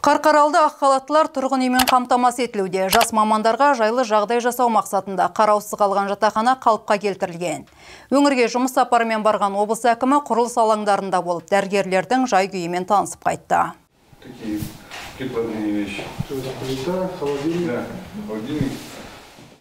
Қарқаралды ақ халаттылар тұрғын үймен қамтамасыз етілуде. Жас мамандарға жайлы жағдай жасау мақсатында қараусыз қалған жатақхана қалыпқа келтірілген. Өңірге жұмыс сапарымен барған облыс әкімі құрылыс алаңдарында болып, дәрігерлердің жай күйімен танысып қайтты.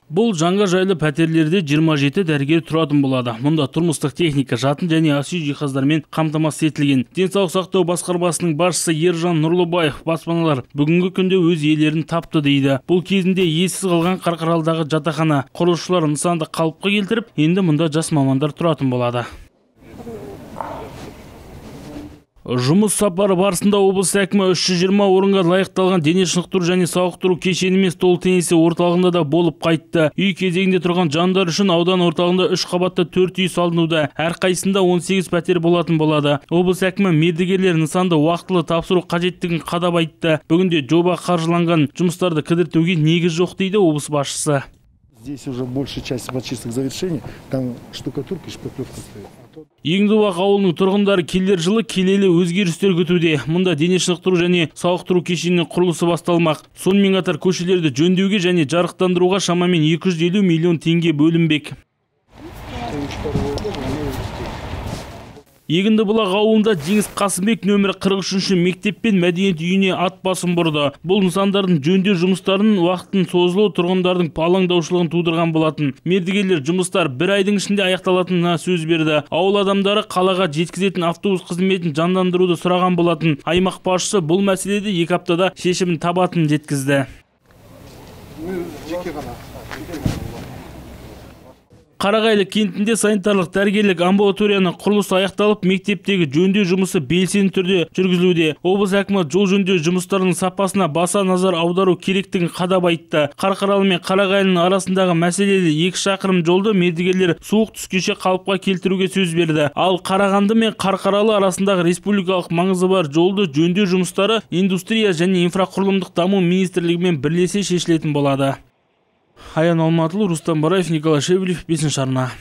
Бұл жаңа жайлы пәтерлерде 27 дәрігер тұратын болады. Мұнда тұрмыстық техника, жатын және ас-үй жиһаздармен қамтамасыз етілген. Денсаулық сақтау басқармасының басшысы Ержан Нұрлыбаев баспаналар бүгінгі күнде өз иелерін тапты дейді. Бұл кезінде иесіз қалған Қарқаралыдағы жатақхана құрылысшылар нысанды қалыпқа келтіріп, енді мұнда жас мамандар тұратын болады. Жұмыс сапары барысында облыс әкімі 320 орынға лайықталған дене шынықтыру және сауықтыру кешені мен стол теннисі орталығында да болып қайтты. Үй кезегінде тұрған жандар үшін аудан орталығында 3 қабатты 4 үй салынуда. Әрқайсында 18 пәтер болатын болады. Облыс әкімі мердігерлер нысанды уақытылы тапсыру қажеттігін қадап айтты. Бүгінде жоба қаржыланған, жұмыстарды кідіртуге негіз жоқ дейді облыс басшысы. Здесь уже большая часть почисток завершения, там штукатурка и шпаклевка стоит. Еңдібақ ауылының тұрғындары келер жылы келелі өзгерістер күтуде. Мұнда дене шынықтыру және сауықтыру кешенінің құрылысы басталмақ. Сонымен қатар көшелерді жөндеуге және жарықтандыруға шамамен 250 миллион теңге бөлінбек. Егіндібұлақ ауылында Жеңіс Қасымбек нөмірі 43-ші мектеп пен мәдениет үйіне ат басын бұрды. Бұл нысандардың жөндеу жұмыстарының уақытын созылуы тұрғындардың алаңдаушылығын тудырған болатын. Мердігерлер жұмыстар 1 айдың ішінде аяқталатынына сөз берді. Ауыл адамдары қалаға жеткізетін автобус қызметін жандандыруды сұраған болатын. Аймақ басшысы бұл мәселеде 2 аптада шешімін табатынын жеткізді. Қарағайлы кентінде санитарлық дәрігерлік амбулаторияның құрылысы аяқталып, мектептегі жөндеу жұмысы белсенді түрде жүргізілуде. Облыс әкімі жол жөндеу жұмыстарының сапасына баса назар аудару керектігін қадап айтты. Қарқаралы мен Қарағайлының арасындағы мәселелі 2 шақырым жолды мердігерлер суық түскеше қалыпқа келтіруге сөз берді. Ал Қарағанды мен Қарқаралы арасындағы республикалық маңызы бар жолды жөндеу жұмыстары индустрия және инфрақұрылымдық даму министрлігімен бірлесе шешілетін болады. Аян Алматылы, Рустам Бараев, Николай Шевелев, 5-ші арна.